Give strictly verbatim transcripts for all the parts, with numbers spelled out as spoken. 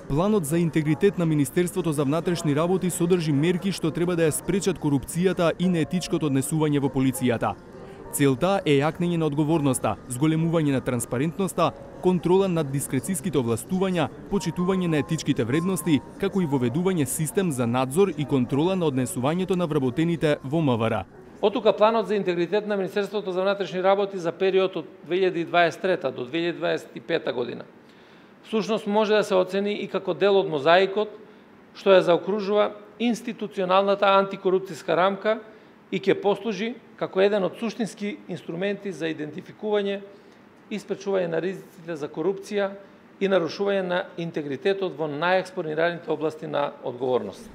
Планот за интегритет на Министерството за внатрешни работи содржи мерки што треба да ја спречат корупцијата и неетичкото однесување во полицијата. Целта е јакнење на одговорноста, зголемување на транспарентноста, контрола над дискрециските овластувања, почитување на етичките вредности, како и воведување систем за надзор и контрола на однесувањето на вработените во МВР. Оттука планот за интегритет на Министерството за внатрешни работи за период од две илјади и дваесет и трета до две илјади дваесет и пета година. Всушност може да се оцени и како дел од мозаикот што ја заокружува институционалната антикорупцијска рамка и ќе послужи како еден од суштински инструменти за идентификување и спречување на ризиците за корупција и нарушување на интегритетот во најекспонираните области на одговорност.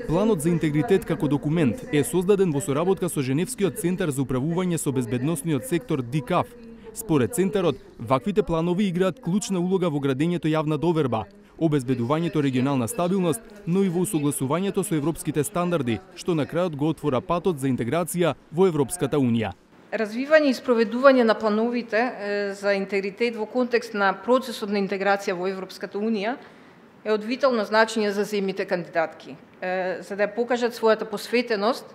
Планот за интегритет како документ е создаден во соработка со Женевскиот центар за управување со безбедносниот сектор ди кей ей эф. Според центарот, ваквите планови играат клучна улога во градењето јавна доверба, обезбедувањето регионална стабилност, но и во усогласувањето со европските стандарди, што на крајот го отвора патот за интеграција во Европската унија. Развивање и спроведување на плановите за интегритет во контекст на процесот на интеграција во Европската унија е од витално значење за земјите кандидатки, за да ја покажат својата посветеност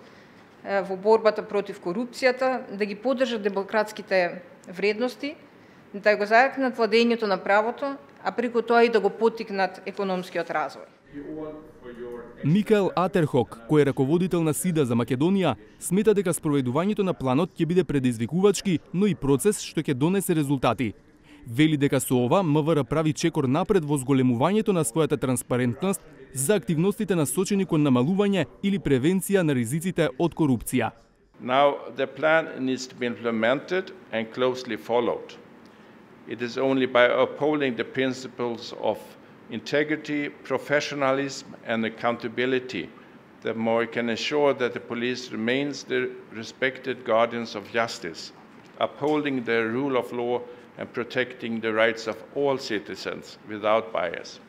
во борбата против корупцијата, да ги поддржат демократските вредности, да го зајакнат владењето на правото, а преку тоа и да го поттикнат економскиот развој. Микаел Атерхок, кој е раководител на СИДА за Македонија, смета дека спроведувањето на планот ќе биде предизвикувачки, но и процес што ќе донесе резултати. Вели дека со ова МВР прави чекор напред во зголемувањето на својата транспарентност за активностите насочени кон намалување или превенција на ризиците од корупција. Now the plan needs to be implemented and closely followed. It is only by upholding the principles of integrity, professionalism and accountability that we can ensure that the police remains the respected guardians of justice, upholding the rule of law and protecting the rights of all citizens without bias.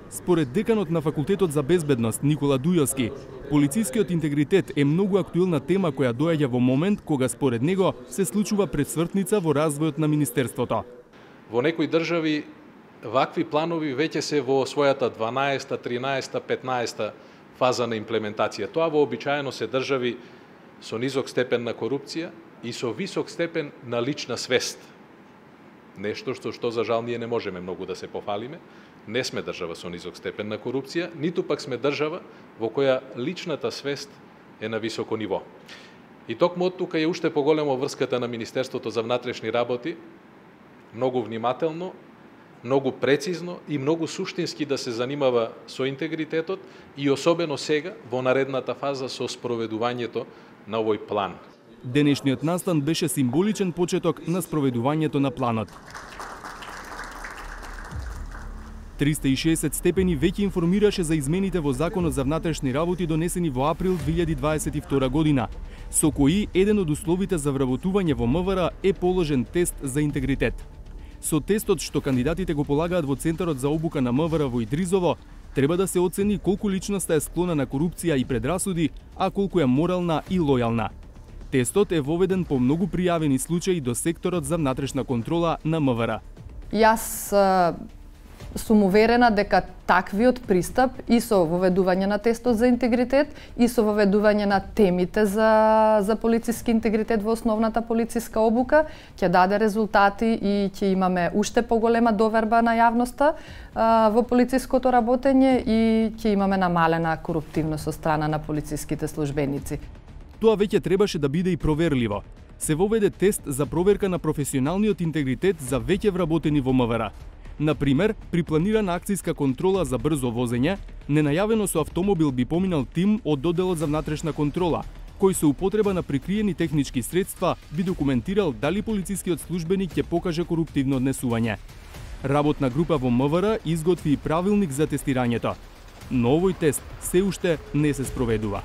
Според деканот на Факултетот за безбедност Никола Дујовски, полицискиот интегритет е многу актуелна тема која доаѓа во момент кога според него се случува пресвртница во развојот на министерството. Во некои држави вакви планови веќе се во својата дванаесета, тринаесета, петнаесета фаза на имплементација. Тоа вообичаено се држави со низок степен на корупција и со висок степен на лична свест. Нешто што што за жал ние не можеме многу да се пофалиме. Не сме држава со низок степен на корупција, ниту пак сме држава во која личната свест е на високо ниво. И токму од тука е уште поголемо врската на Министерството за внатрешни работи, многу внимателно, многу прецизно и многу суштински да се занимава со интегритетот и особено сега во наредната фаза со спроведувањето на овој план. Денешниот настан беше символичен почеток на спроведувањето на планот. триста и шеесет степени веќе информираше за измените во Законот за внатрешни работи донесени во април две илјади дваесет и втора година, со кои еден од условите за вработување во МВР е положен тест за интегритет. Со тестот што кандидатите го полагаат во Центарот за обука на МВР во Идризово, треба да се оцени колку личноста е склона на корупција и предрасуди, а колку е морална и лојална. Тестот е воведен по многу пријавени случаи до секторот за внатрешна контрола на МВР. Јас сум уверена дека таквиот пристап и со воведување на тестот за интегритет и со воведување на темите за, за полициски интегритет во основната полициска обука ќе даде резултати и ќе имаме уште поголема доверба на јавноста а, во полициското работење и ќе имаме намалена коруптивност со страна на полициските службеници. Тоа веќе требаше да биде и проверливо. Се воведе тест за проверка на професионалниот интегритет за веќе вработени во МВР. Например, при планирана акцијска контрола за брзо возење, ненајавено со автомобил би поминал тим од Доделот за внатрешна контрола, кој со употреба на прикриени технички средства би документирал дали полицискиот службеник ќе покаже коруптивно однесување. Работна група во МВР изготви и правилник за тестирањето, но овој тест се уште не се спроведува.